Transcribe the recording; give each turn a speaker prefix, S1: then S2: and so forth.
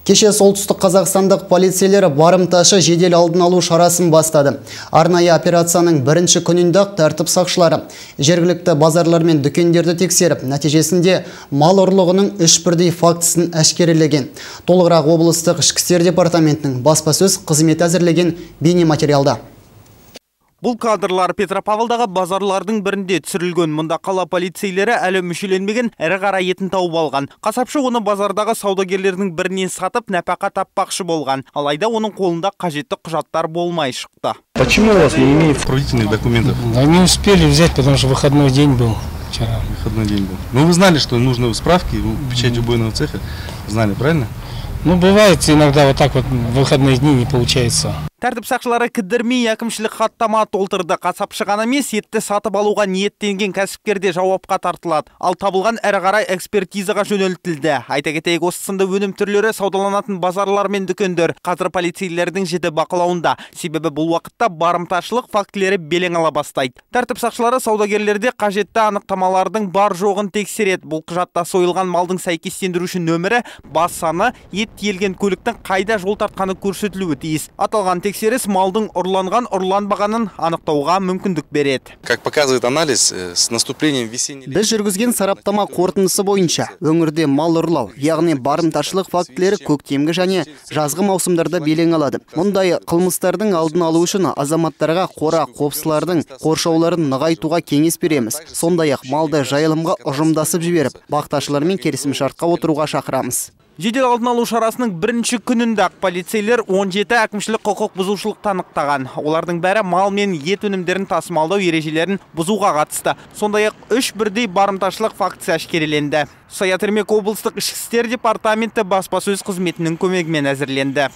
S1: Кеше солтүстік қазақстандық полицейлері барымташы жедел алдын алу шарасын бастады. Арнайы операцияның бірінші күнінде тәртіп сақшылары жергілікті базарлар мен дүкендерді тексеріп, нәтижесінде мал ұрлығының 3 бірдей фактісін әшкерелеген. Толығырақ облыстық ішкі істер департаментінің баспасөз қызметі әзірлеген бейнематериалда.
S2: Бұл кадрлар Петропавлдағы базарлардың бірінде түсірілген. Мұнда қала полицейлері әлі мүшеленмеген ірі қара етін тауып алған. Қасапшы оны базардағы саудагерлердің бірінен сатып, нәпақа таппақшы болған. Алайда оның қолында қажетті құжаттар болмай шықты.
S3: Почему у вас не имеет правительных документов?
S4: Да не успели взять, потому что выходной день был вчера.
S3: Выходной день был. Но вы знали, что нужны справки, печать убойного цеха? Знали, правильно?
S4: Ну, бывает иногда вот так вот в выходные дни не получается.
S2: Тәртіп сақшылары кідірмей әкімшілік хаттама толтырды. Қасапшы ғана емес, етті сатып алуға ниеттенген кәсіпкерде жауапқа тартылады. Ал табылған әрі қарай экспертизаға жөнелтілді. Айта кетейік, осы сынды өнім түрлері саудаланатын базарлар мен дүкендер қазір полицейлердің жіті бақылауында. Себебі бұл уақытта барымташылық фактілері белең ала бастайды. Тәртіп сақшылары саудагерлерде қажетті анықтамалардың бар жоғын тексереді. Бұл құжатта сойылған малдың сәйкестендіруші нөмірі, бас саны, ет тиелген көліктің қайда жол тартқаны көрсетілуі тиіс. Аталған тексеріс малдың ұрланған, ұрланбағанын анықтауға мүмкіндік береді.
S3: Как показывает анализ, с наступлением весенней...
S1: Біз жүргізген сараптама қорытындысы бойынша өңірде мал ұрлау, яғни барымташылық фактілері көктемгі және жазғы маусымдарда белең алады. Мұндай қылмыстардың алдын алу үшін азаматтарға қора қопсылардың қоршауларын нығайтуға кеңес береміз. Сондай-ақ малды жайылымға ұжымдасып жіберіп, бақташылармен келісімшартқа отыруға шақырамыз.
S2: Жедел алдын алу шарасының бірінші күнінде полицейлер 17 әкімшілік құқық бұзушылықты анықтаған. Олардың бәрі мал мен ет өнімдерін тасымалдау ережелерін бұзуға қатысты. Сондай-ақ 3 бірдей барымташылық фактісі әшкереленді. Саят Ермек облыстық ішкі істер департаменті баспасөз қызметінің көмегімен әзірленді.